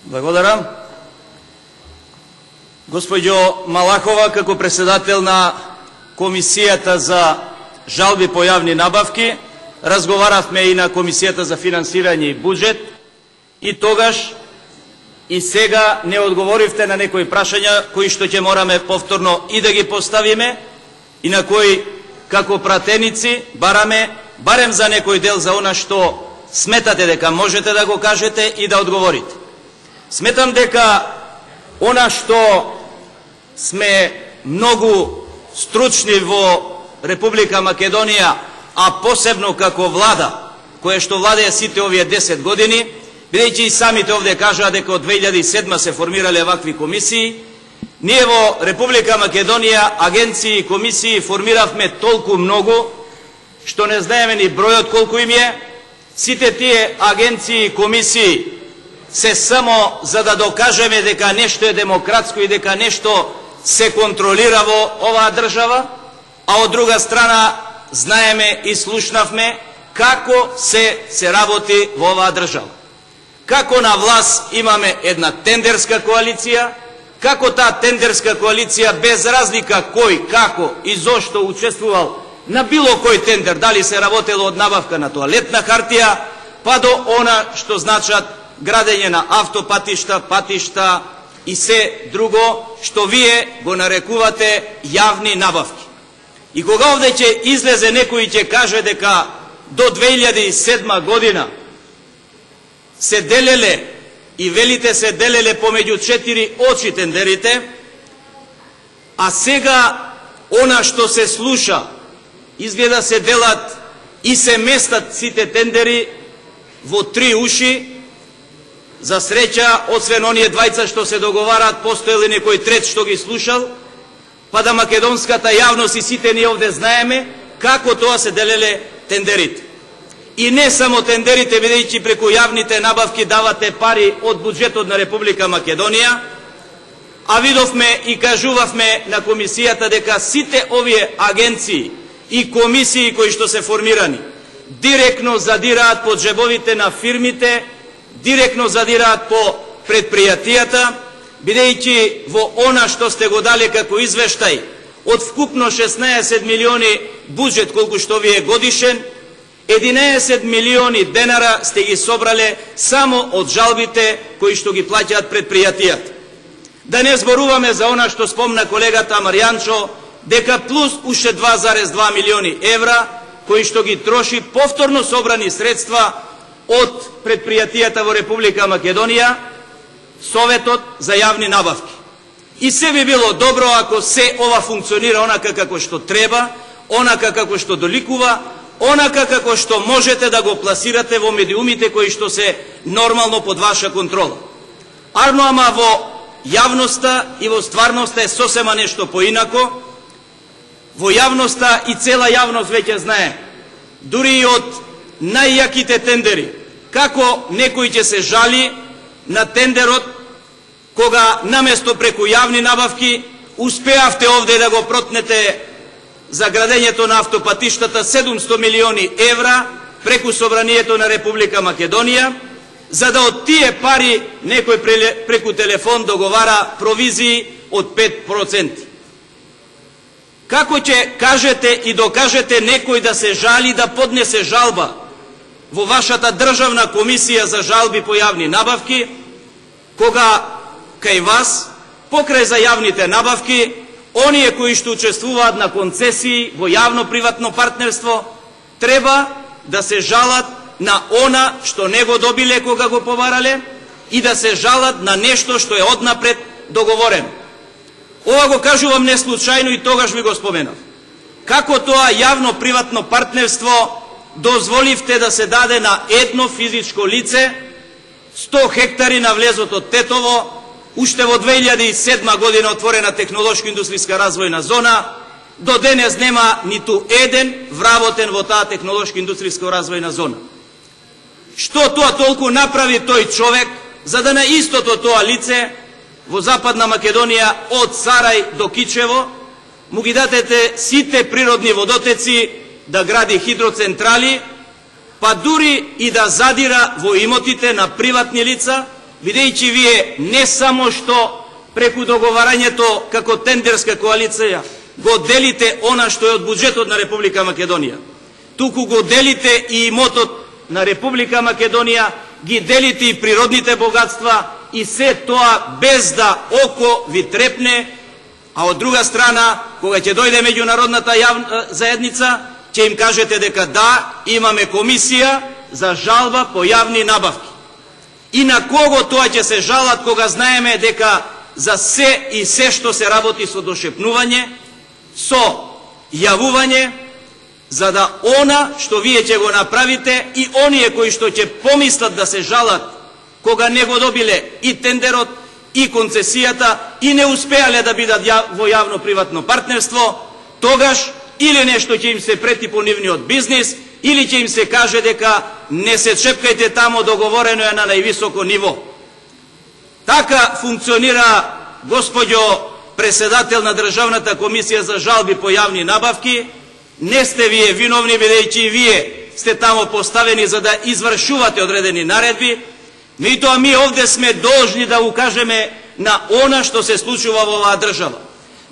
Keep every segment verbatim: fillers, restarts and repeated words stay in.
Благодарам. Госпоѓо Малахова, како председател на Комисијата за жалби по јавни набавки, разговаравме и на Комисијата за финансирање и буџет, и тогаш и сега не одговоривте на некои прашања кои што ќе мораме повторно и да ги поставиме и на кои како пратеници бараме барем за некој дел за она што сметате дека можете да го кажете и да одговорите. Сметам дека она што сме многу стручни во Република Македонија, а посебно како влада, која што владеја сите овие десет години, бидејќи и самите овде кажаа дека од две илјади и седма се формирале вакви комисии, ние во Република Македонија агенции и комисии формиравме толку многу, што не знаеме ни бројот колку им е. Сите тие агенции и комисии се само за да докажеме дека нешто е демократско и дека нешто се контролира во оваа држава, а од друга страна знаеме и слушнавме како се се работи во оваа држава. Како на власт имаме една тендерска коалиција, како таа тендерска коалиција без разлика кој, како и зошто учествувал на било кој тендер, дали се работело од набавка на тоалетна хартија, па до она што значат градење на автопатишта, патишта и се друго што вие го нарекувате јавни набавки. И кога овде ќе излезе некој и ќе каже дека до две илјади и седма година се делеле и велите се делеле помеѓу четири очи тендерите, а сега она што се слуша изгледа се делат и се местат сите тендери во три уши. За среќа, освен оние двајца што се договараат, постоел и некој трет што ги слушал, па да македонската јавност и сите ние овде знаеме како тоа се делеле тендерите. И не само тендерите, бидејќи преку јавните набавки давате пари од буџетот на Република Македонија, а видовме и кажувавме на комисијата дека сите овие агенции и комисии кои што се формирани директно задираат под джебовите на фирмите, директно задираат по предпријатијата, бидејќи во она што сте го дали како извештај од вкупно шеснаесет милиони буџет колку што ви е годишен, единаесет милиони денара сте ги собрале само од жалбите кои што ги плаќаат предпријатијата. Да не зборуваме за она што спомна колегата Марјанчо, дека плюс уште два зарез два милиони евра кои што ги троши повторно собрани средства од предпријатијата во Република Македонија, Советот за јавни набавки. И се би било добро ако се ова функционира онака како што треба, онака како што доликува, онака како што можете да го пласирате во медиумите кои што се нормално под ваша контрола. Арно, ама во јавноста и во стварноста е сосема нешто поинако. Во јавноста и цела јавност веќе знае, дури и од најјаките тендери, како некој ќе се жали на тендерот, кога наместо преку јавни набавки успеавте овде да го протнете за градењето на автопатиштата седумстотини милиони евра преку собранието на Република Македонија, за да од тие пари некој преку телефон договара провизии од пет проценти. Како ќе кажете и докажете некој да се жали, да поднесе жалба во вашата државна комисија за жалби по јавни набавки, кога кај вас, покрај за јавните набавки, оние кои што учествуваат на концесии во јавно-приватно партнерство, треба да се жалат на она што не го добиле кога го побарале и да се жалат на нешто што е однапред договорено. Ова го кажувам не случајно и тогаш ви го споменав. Како тоа јавно-приватно партнерство дозволивте да се даде на едно физичко лице сто хектари на влезот од Тетово, уште во две илјади и седма година отворена технолошко-индустријска развојна зона, до денес нема ниту еден вработен во таа технолошко-индустријска развојна зона. Што тоа толку направи тој човек, за да на истото тоа лице во Западна Македонија од Сарај до Кичево му ги дадете сите природни водотеци, да гради хидроцентрали, па дури и да задира во имотите на приватни лица, бидејќи вие не само што преку договарањето како тендерска коалиција го делите она што е од буџетот на Република Македонија, туку го делите и имотот на Република Македонија, ги делите и природните богатства и се тоа без да око ви трепне, а од друга страна, кога ќе дојде меѓународната јавна заедница, ќе им кажете дека да, имаме комисија за жалба по јавни набавки. И на кого тоа ќе се жалат кога знаеме дека за се и се што се работи со дошепнување, со јавување, за да она што вие ќе го направите и оние кои што ќе помислат да се жалат кога не го добиле и тендерот и концесијата и не успеале да бидат во јавно-приватно партнерство, тогаш или нешто ќе им се прети по нивниот бизнис, или ќе им се каже дека не се чепкајте тамо, договорено е на највисоко ниво. Така функционира, господјо председател на Државната комисија за жалби по јавни набавки. Не сте вие виновни, бидејќи и вие сте тамо поставени за да извршувате одредени наредби, меѓутоа ми овде сме должни да укажеме на она што се случува во оваа држава.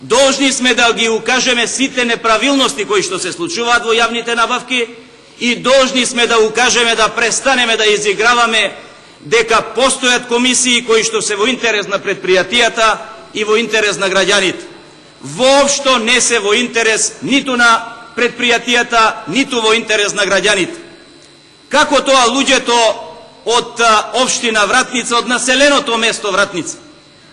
Должни сме да ги укажеме сите неправилности кои што се случуваат во јавните набавки и должни сме да укажеме да престанеме да изиграваме дека постојат комисии кои што се во интерес на предпријатијата и во интерес на граѓаните. Воопшто не се во интерес ниту на предпријатијата, ниту во интерес на граѓаните. Како тоа луѓето од општина Вратница, од населеното место Вратница,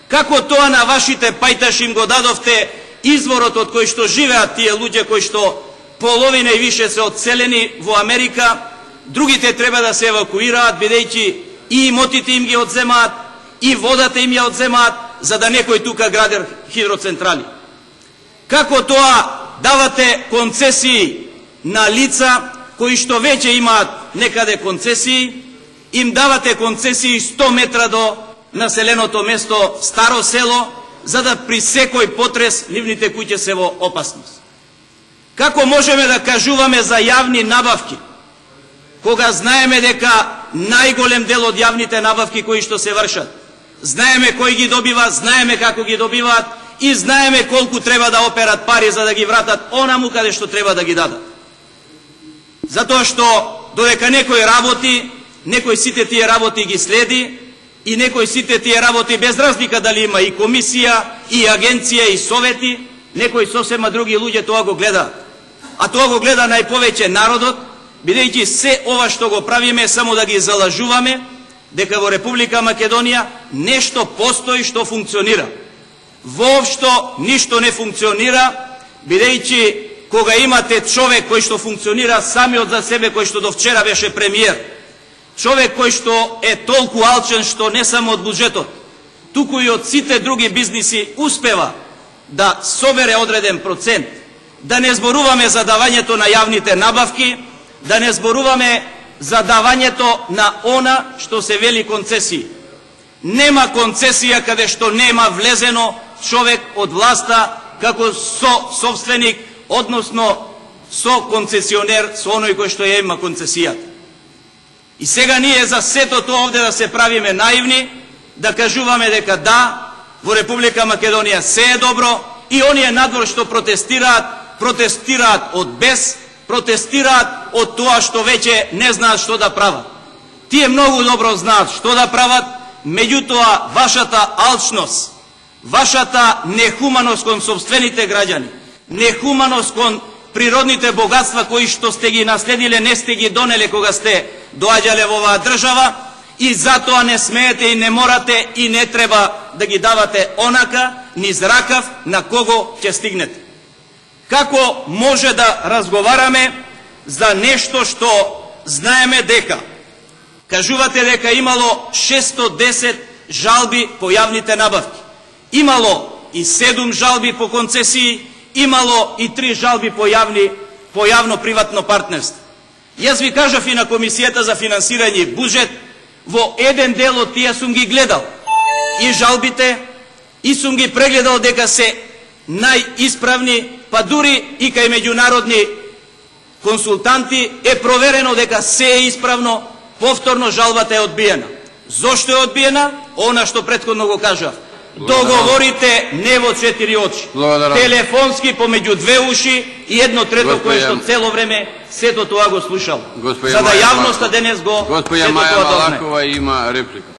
како тоа на вашите пајташи им го дадовте изворот од кој што живеат тие луѓе кои што половина и више се одселени во Америка, другите треба да се евакуираат, бидејќи и имотите им ги одземаат, и водата им ја одземаат, за да некој тука гради хидроцентрали. Како тоа давате концесии на лица кои што веќе имаат некаде концесии, им давате концесии сто метра до населеното место Старо село, за да при секој потрес нивните куќи се во опасност. Како можеме да кажуваме за јавни набавки, кога знаеме дека најголем дел од јавните набавки кои што се вршат, знаеме кој ги добива, знаеме како ги добиваат и знаеме колку треба да операт пари за да ги вратат онаму каде што треба да ги дадат. Затоа што додека некој работи, некој сите тие работи ги следи и некој сите тие работи без разлика дали има и комисија, и агенција, и совети, некои сосема други луѓе тоа го гледаат. А тоа го гледа најповеќе народот, бидејќи се ова што го правиме само да ги залажуваме дека во Република Македонија нешто постои што функционира. Воопшто ништо не функционира, бидејќи кога имате човек кој што функционира самиот за себе, кој што до вчера беше премиер, човек кој што е толку алчен што не само од буџетот, туку и од сите други бизниси успева да собере одреден процент, да не зборуваме за давањето на јавните набавки, да не зборуваме за давањето на она што се вели концесии. Нема концесија каде што нема влезено човек од власта како со собственик, односно со концесионер, со оној кој што ја има концесијата. И сега ние за сето тоа овде да се правиме наивни, да кажуваме дека да, во Република Македонија се е добро и оние надвор што протестираат, протестираат од бес, протестираат од тоа што веќе не знаат што да прават. Тие многу добро знаат што да прават, меѓутоа вашата алчност, вашата нехуманост кон собствените граѓани, нехуманост кон природните богатства кои што сте ги наследиле, не сте ги донеле кога сте доаѓале во оваа држава и затоа не смеете и не морате и не треба да ги давате онака низ ракав на кого ќе стигнете. Како може да разговараме за нешто што знаеме дека кажувате дека имало шестстотини и десет жалби по јавните набавки, имало и седум жалби по концесии, имало и три жалби по јавни по јавно-приватно партнерство. Јас ви кажав и на Комисијата за финансирање и буџет, во еден дел од тие сум ги гледал и жалбите и сум ги прегледал дека се најисправни, па дури и кај меѓународни консултанти е проверено дека се е исправно, повторно жалбата е одбиена. Зошто е одбиена? Она што претходно го кажав. Договорите не во четири очи. Благодарам. Телефонски помеѓу две уши и едно трето кое што цело време сето тоа го слушал. За да јавноста денес го Госпоја Маја Малакова има реплика.